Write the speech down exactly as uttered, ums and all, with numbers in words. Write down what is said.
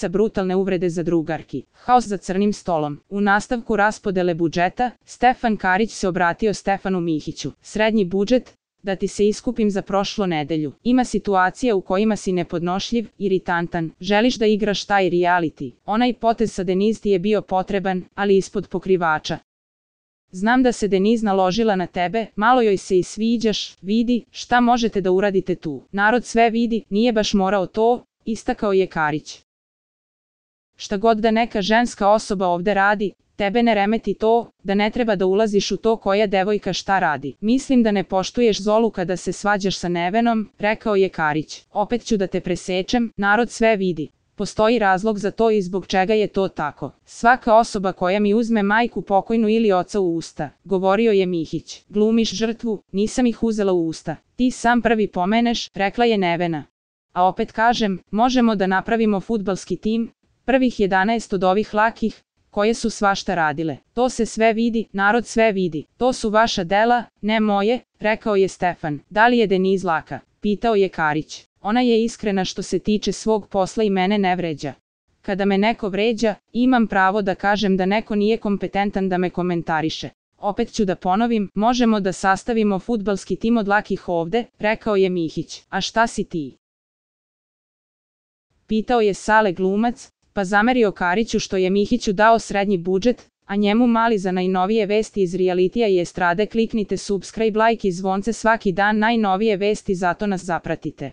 brutalne uvrede za drugarki, haos za crnim stolom. U nastavku raspodele budžeta, Stefan Karić se obratio Stefanu Mihiću. Srednji budžet, da ti se iskupim za prošlu nedelju. Ima situacija u kojima si nepodnošljiv, iritantan, želiš da igraš taj reality. Onaj potez sa Deniz ti je bio potreban, ali ispod pokrivača. Znam da se Deniz naložila na tebe, malo joj se i sviđaš, vidi, šta možete da uradite tu. Narod sve vidi, nije baš morao to, istakao je Karić. Šta god da neka ženska osoba ovde radi, tebe ne remeti to, da ne treba da ulaziš u to koja devojka šta radi. Mislim da ne poštuješ Zolu kada se svađaš sa Nevenom, rekao je Karić. Opet ću da te presečem, narod sve vidi. Postoji razlog za to i zbog čega je to tako. Svaka osoba koja mi uzme majku pokojnu ili oca u usta, govorio je Mihić. Glumiš žrtvu, nisam ih uzela u usta. Ti sam prvi pomeneš, rekla je Nevena. A opet kažem, možemo da napravimo fudbalski tim, prvih jedanaest od ovih lakih, koje su svašta radile. To se sve vidi, narod sve vidi. To su vaša dela, ne moje, rekao je Stefan. Da li je Deniz laka? Pitao je Karić. Ona je iskrena što se tiče svog posla i mene ne vređa. Kada me neko vređa, imam pravo da kažem da neko nije kompetentan da me komentariše. Opet ću da ponovim, možemo da sastavimo fudbalski tim od lakih ovde, rekao je Mihić. A šta si ti? Pitao je Sale glumac, pa zamerio Kariću što je Mihiću dao srednji budžet, a njemu mali. Za najnovije vesti iz realitija i estrade kliknite subscribe, like i zvonce svaki dan, najnovije vesti, zato nas zapratite.